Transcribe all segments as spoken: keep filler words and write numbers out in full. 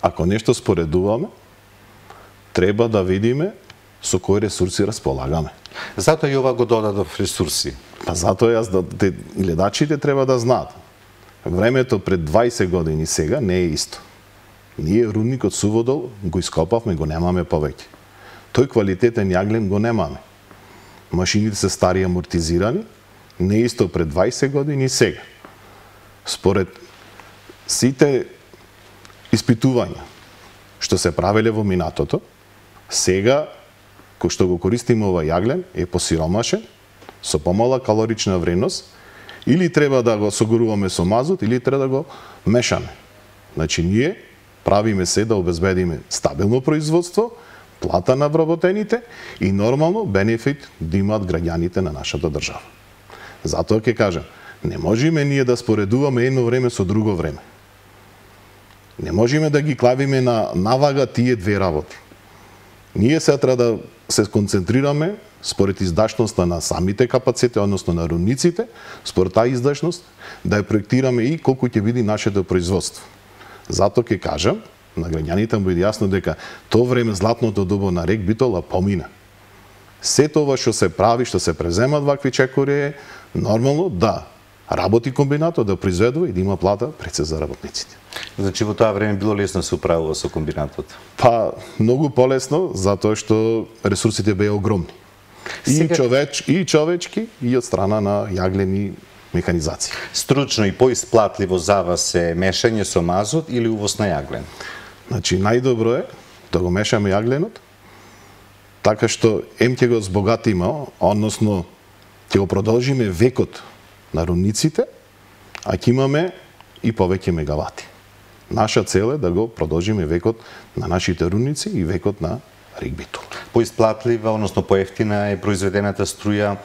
ако нешто споредуваме, треба да видиме со кои ресурси располагаме. Затоа и ова го додадов ресурси. Па затоа јас да те, гледачите треба да знаат. Времето пред дваесет години сега не е исто. Ние рудникот Суводол го ископавме, го немаме повеќе. Тој квалитетен јаглен го немаме. Машините се стари амортизирани, не е исто пред дваесет години и сега. Според сите испитувања што се правеле во минатото, сега кој што го користиме ова јаглен е посиромашен, со помала калорична вредност, или треба да го согоруваме со мазут, или треба да го мешаме. Значи ние правиме се да обезбедиме стабилно производство, плата на вработените и нормално бенефит да имаат граѓаните на нашата држава. Затоа ќе кажам, не можеме ние да споредуваме едно време со друго време. Не можеме да ги клавиме на навага тие две работи. Ние се треба да се концентрираме според издашноста на самите капацитети, односно на рудниците, според таа издашност, да ја проектираме и колку ќе биде нашето производство. Затоа ќе кажам, на граѓаните му биде јасно дека тоа време златното добо на рек Битола помина. Сето ова што се прави, што се преземат вакви чекори е нормално да работи комбинатот, да произведува и да има плата пред се за работниците. Значи во тоа време било лесно да се управува со комбинатот? Па, многу полесно, затоа што ресурсите беа огромни. И Сега... човеч, и човечки, и од страна на јаглени механизација. Стручно и поисплатливо за вас е мешање со мазот или увоз на јаглен? Значи, најдобро е да го мешаме јагленот, така што ем ќе го збогатиме, односно ќе го продолжиме векот на рудниците, а ќе имаме и повеќе мегавати. Наша цел е да го продолжиме векот на нашите рудници и векот на рек Битола. Поисплатлива, односно поевтина е произведената струја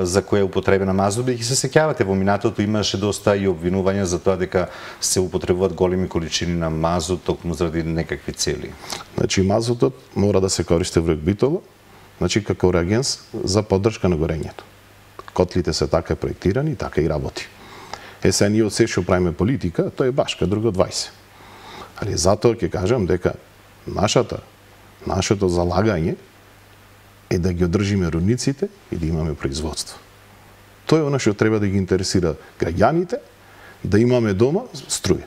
за која е употребена мазут, бидејќи се сеќавате во минатото имаше доста и обвинувања за тоа дека се употребуваат големи количини на мазут токму заради некакви цели. Значи мазутот мора да се користи во рек Битола, значи како реагенс за поддршка на горењето. Котлите се така проектирани, така и работи. Е се ние од се што правиме политика, тоа е башка, друго дваесет. Али затоа ќе кажам дека нашата нашето залагање е да ги одржиме рудниците и да имаме производство. Тоа е она што треба да ги интересира граѓаните, да имаме дома струја.